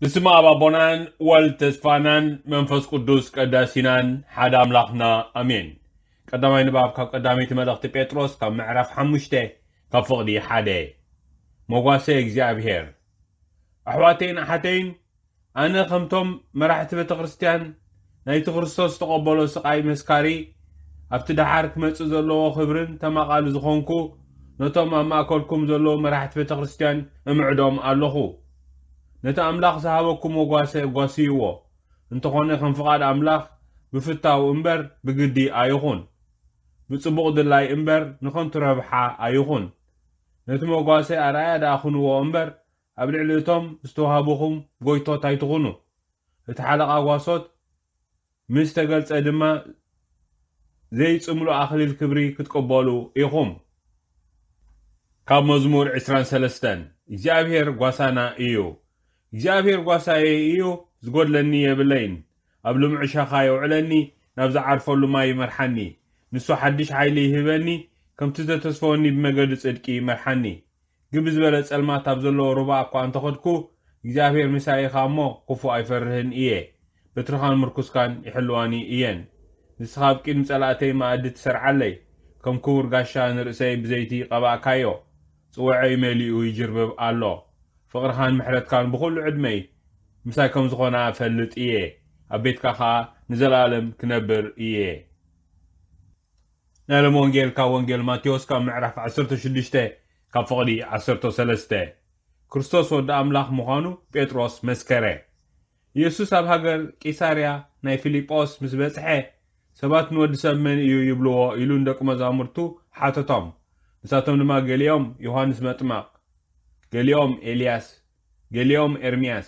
ብስመ ኣብ ኣቦናን ወልድ ተስፋናን መንፈስ ቅዱስ ቀዳሲናን ሓደ ኣምላኽና ኣሜን። ቀዳማይ ንባብ ካብ ቀዳመይቲ መልእኽቲ ጴጥሮስ ካብ ምዕራፍ ሓሙሽተ ካብ ፍቕዲ ሓደ። መጓሰ እግዚኣብሔር። ኣሕዋተይን ኣሓተይን፣ ኣነ ከምቶም መራሕቲ ቤተ ክርስቲያን ናይቲ ክርስቶስ ዝተቐበሎ ስቓይ መስካሪ፣ ኣብቲ ደሓር ክመጽእ ዘለዎ ክብርን ተማቓሊ ዝኾንኩ፣ ነቶም ኣብ ማእከልኩም ዘለዉ መራሕቲ ቤተ ክርስቲያን እምዕዶም ኣለኹ። ነቲ ኣምላኽ ዝሃበኩም መጓሰ ጓስይዎ። እንተኾነ ከም ፍቓድ ኣምላኽ ብፍታው እምበር ብግዲ ኣይኹን። ብጽቡቕ ድላይ እምበር ንኸንቱ ረብሓ ኣይኹን። ነቲ መጓሰ ኣርኣያ ደኣ ኩንዎ እምበር ኣብ ልዕሊ እቶም ዝተዋህቡኹም ጎይቶት ኣይትኹኑ። እቲ ሓለቓ ጓሶት ምስ ተገልጸ ድማ ዘይጽምሉ ኣኽሊል ክብሪ ክትቅበሉ ኢኹም። ካብ መዝሙር ዕስራን ሰለስተን። እግዚኣብሔር ጓሳና እዩ። እግዚኣብሔር ጓሳየ እዩ፣ ዝጎድለኒ የብለይን። ኣብ ልሙዕ ሻኻ የውዕለኒ፣ ናብ ዝዓርፈሉ ማይ ይመርሓኒ። ንሱ ሓድሽ ሓይሊ ይህበኒ፣ ከምቲ ዘተስፈወኒ ብመገዲ ጽድቂ ይመርሓኒ። ግብ ዝበለ ጸልማት ኣብ ዘለዎ ሩባ እኳ እንተኸድኩ፣ እግዚኣብሔር ምሳይ ኢኻ እሞ ክፉእ ኣይፈርህን እየ። በትርኻን ምርኩስካን ይሕልዋኒ እየን። ንስኻ ኣብ ቅድሚ ጸላእተይ መኣዲ ትሰርዓለይ። ከም ክቡር ጋሻ ንርእሰይ ብዘይቲ ቀባእካዮ። ጽዋዐይ መሊኡ ይጅርብብ ኣሎ። ፍቕርኻን ምሕረትካን ብኹሉ ዕድመይ ምሳይ ከም ዝኾና እፈልጥ እየ። ኣብ ቤትካ ኸኣ ንዘለኣለም ክነብር እየ። ናይ ሎም ወንጌል ካብ ወንጌል ማቴዎስ ካብ ምዕራፍ ዓሰርተ ሽዱሽተ ካብ ፍቕዲ ዓሰርተ ሰለስተ። ክርስቶስ ወዲ ኣምላኽ ምዃኑ ጴጥሮስ መስከረ። ኢየሱስ ኣብ ሃገር ቂሳርያ ናይ ፊልጶስ ምስ በጽሐ፣ ሰባት ንወዲ ሰብ መን እዩ ይብልዎ? ኢሉ ንደቂ መዛሙርቱ ሓተቶም። ንሳቶም ድማ ገሊኦም ዮሃንስ መጥመቕ፣ ገሊኦም ኤልያስ፣ ገሊኦም ኤርምያስ፣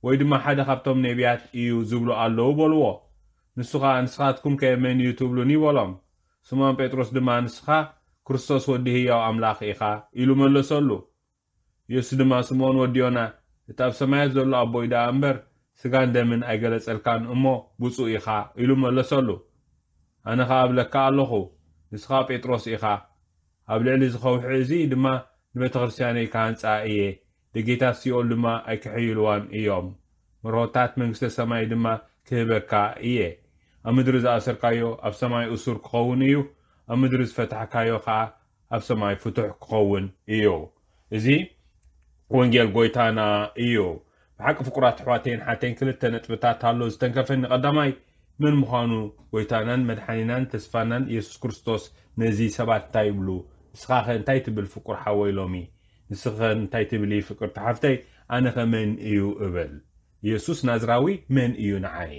ወይ ድማ ሓደ ካብቶም ነቢያት እዩ ዝብሉ ኣለዉ በልዎ። ንሱ ኸኣ፣ ንስኻትኩም ከ መን እዩ ትብሉኒ? በሎም። ስምዖን ጴጥሮስ ድማ፣ ንስኻ ክርስቶስ ወዲ ህያው ኣምላኽ ኢኻ ኢሉ መለሰሉ። ኢየሱስ ድማ፣ ስምዖን ወዲ ዮና፣ እቲ ኣብ ሰማያት ዘሎ ኣቦይ ደኣ እምበር ስጋን ደምን ኣይገለጸልካን እሞ ብፁዕ ኢኻ ኢሉ መለሰሉ። ኣነ ኸኣ እብለካ ኣለኹ፣ ንስኻ ጴጥሮስ ኢኻ፣ ኣብ ልዕሊ እዚ ኸውሒ እዚ ድማ ንቤተ ክርስቲያነይ ክሃንጻ እየ፣ ደጌታት ሲኦል ድማ ኣይክሕይልዋን እዮም። መርሆታት መንግስተ ሰማይ ድማ ክህበካ እየ። ኣብ ምድሪ ዝኣሰርካዮ ኣብ ሰማይ እሱር ክኸውን እዩ፣ ኣብ ምድሪ ዝፈታሕካዮ ኸኣ ኣብ ሰማይ ፍቱሕ ክኸውን እዩ። እዚ ወንጌል ጎይታና እዩ። ብሓቂ ፍቁራት ኣሕዋተይን ሓተይን ክልተ ነጥብታት ኣሎ ዝተንከፈኒ። ቀዳማይ መን ምዃኑ ጎይታናን መድሓኒናን ተስፋናን ኢየሱስ ክርስቶስ ነዚ ሰባት እንታይ ይብሉ? ንስኻኸ እንታይ ትብል ፍቁር ሓወይ ሎሚ? ንስኸ እንታይ ትብሊ ፍቅርቲ ሓፍተይ? ኣነኸ መን እዩ እብል? ኢየሱስ ናዝራዊ መን እዩ ንዓይ?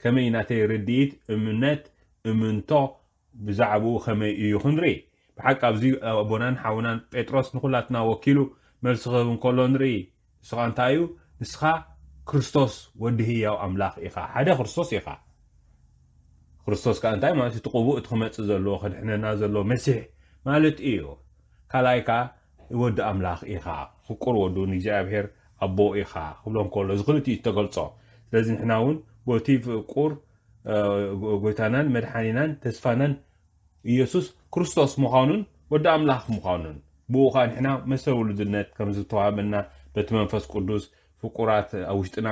ከመይ ናተይ ርድኢት፣ እምነት፣ እምንቶ ብዛዕባኡ ከመይ እዩ ክንርኢ? ብሓቂ ኣብዚ ኣቦናን ሓውናን ጴጥሮስ ንኹላትና ወኪሉ መልሲ ክህብ እንከሎ ንርኢ። ንሱ ኸኣ እንታይ እዩ? ንስኻ ክርስቶስ ወዲ ህያው ኣምላኽ ኢኻ። ሓደ ክርስቶስ ኢኻ። ክርስቶስ ከኣ እንታይ ማለት እዩ? እቲ ቅቡእ፣ እቲ ክመጽእ ዘለዎ፣ ከድሕነና ዘለዎ መሲሕ ማለት እዩ። ካልኣይ ከኣ ወዲ ኣምላኽ ኢኻ፣ ፍቁር ወዱ ንእግዚኣብሔር ኣቦ ኢኻ ክብሎ እንከሎ፣ እዚ ክልቲኡ እዩ ዝተገልጾ። ስለዚ ንሕና እውን በቲ ፍቁር፣ እ፣ ጎ-፣ ጎይታናን መድሓኒናን ተስፋናን ኢየሱስ ክርስቶስ ምዃኑን ወዲ ኣምላኽ ምዃኑን፣ ብኡ ኸኣ ንሕና መሰል ውሉድነት ከም ዝተዋህበና በቲ መንፈስ ቅዱስ ፍቁራት ኣብ ውሽጥና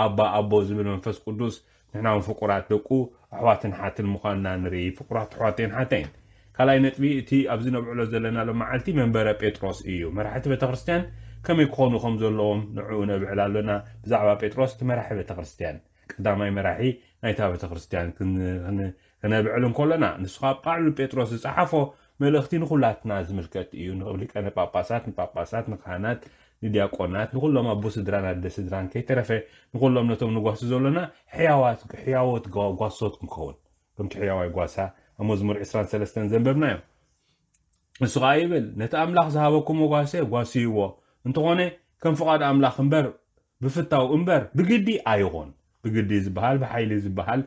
ኣባ ኣቦ ዝብል መንፈስ ቅዱስ ንሕና እውን ፍቁራት ደቁ ኣሕዋትን ሓትን ምዃንና ንርኢ። ፍቁራት ኣሕዋተይን ሓተይን፣ ካልኣይ ነጥቢ እቲ ኣብዚ ነብዕሎ ዘለና ሎም መዓልቲ መንበረ ጴጥሮስ እዩ። መራሕቲ ቤተ ክርስቲያን ከመይ ክኾኑ ከም ዘለዎም ንዕኡ ነብዕል ኣሎና። ብዛዕባ ጴጥሮስ እቲ መራሒ ቤተ ክርስቲያን፣ ቀዳማይ መራሒ ናይታ ቤተ ክርስቲያን ክን-፣ ክን-፣ ክነብዕል እንከሎና፣ ንሱ ኻብ ቃሉ ጴጥሮስ ዝጸሓፎ መልእኽቲ ንኹላትና ዝምልከት እዩ። ንሊቃነ ጳጳሳት፣ ንጳጳሳት፣ ንካህናት፣ ንዲያቆናት፣ ንኹሎም ኣቦ ስድራን ኣደ ስድራን ከይተረፈ፣ ንኹሎም ነቶም ንጓሲ ዘሎና ሕያዋት፣ ሕያዎት ጓ-፣ ጓሶት ክንከውን፣ ከምቲ ሕያዋይ ጓሳ ኣብ መዝሙር ዕስራን ሰለስተን ዘንበብናዮ። ንሱ ኸኣ ይብል፣ ነቲ ኣምላኽ ዝሃበኩም መጓሰ ጓስይዎ። እንተኾነ፣ ከም ፍቓድ ኣምላኽ እምበር፣ ብፍታው እምበር፣ ብግዲ ኣይኹን። ብግዲ ዝበሃል፣ ብሓይሊ ዝበሃል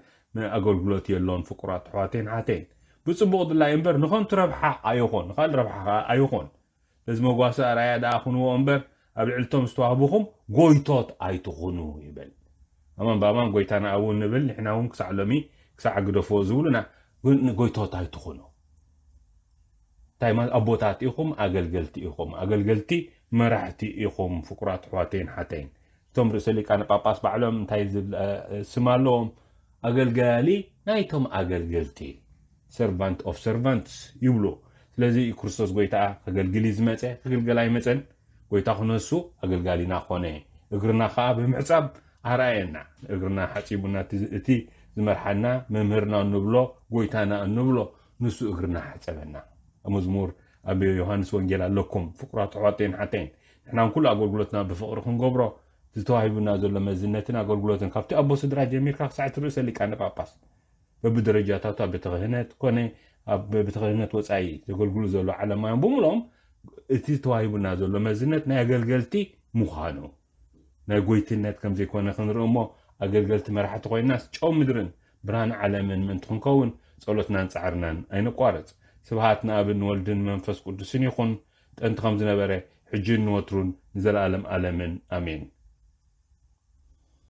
ኣገልግሎት የሎን፣ ፍቁራት ኣሕዋተይን ሓተይን። ብጽቡቕ ድላይ እምበር፣ ንኸንቱ ረብሓ ኣይኹን፣ ንኻልእ ረብሓ ኸኣ ኣይኹን። ነዚ መጓሰ ኣርኣያ ደኣ ኩንዎ እምበር፣ ኣብ ልዕሊ እቶም ዝተዋህቡኹም ጎይቶት ኣይትኹኑ ይብል። ኣማን ብኣማን ጎይታና ኣብኡ ንብል፣ ንሕና እውን ክሳዕ ሎሚ፣ ክሳዕ ግደፍዎ ዝብሉና፣ ግን ጎይቶት ኣይትኹኑ። እንታይ ማለት? ኣቦታት ኢኹም፣ ኣገልገልቲ ኢኹም። ኣገልገልቲ መራሕቲ ኢኹም፣ ፍቁራት ኣሕዋተይን ሓተይን። እቶም ርእሰ ሊቃነ ጳጳስ ባዕሎም እንታይ ዝብል ስም ኣለዎም? ኣገልጋሊ ናይቶም ኣገልገልቲ፣ servant of servants ይብሉ። ስለዚ ክርስቶስ ጎይታ ከገልግል እዩ ዝመፀ፣ ክግልገል ኣይመፀን። ጎይታ ክነሱ ኣገልጋሊና ኮነ፣ እግርና ከዓ ብምሕፃብ ኣርኣየና። እግርና ሓፂቡና እቲ ዝመርሓና መምህርና እንብሎ፣ ጎይታና እንብሎ ንሱ እግርና ሓፀበና። መዝሙር ኣብ ዮሃንስ ወንጌል ኣለኩም። ፍቁራት ኣሕዋተይን ሓተይን፣ ንሕናን ኩሉ ኣገልግሎትና ብፍቕሪ ክንገብሮ፣ ዝተዋሂቡና ዘሎ መዝነትን ኣገልግሎትን ካብቲ ኣቦ ስድራ ጀሚርካ ክሳዕ እቲ ርእሰ ሊቃነ ጳጳስ በብደረጃታቱ ኣብ ቤተ ክህነት ኮነ ኣብ ቤተ ክህነት ወፃኢ ዘገልግሉ ዘሎ ዓለማውያን ብምልኦም እቲ ተዋሂቡና ዘሎ መዝነት ናይ ኣገልገልቲ ምዃኑ፣ ናይ ጎይትነት ከም ዘይኮነ ክንርኢ እሞ፣ ኣገልገልቲ መራሕቲ ኮይናስ ጨው ምድርን ብርሃን ዓለምን ምእንቲ ክንከውን ጸሎትናን ጻዕርናን ኣይነቋርጽ። ስብሃት ንኣብን ንወልድን መንፈስ ቅዱስን ይኹን፣ ጥንቲ ከም ዝነበረ፣ ሕጂን ንወትሩን ንዘለኣለም ኣለምን ኣሜን።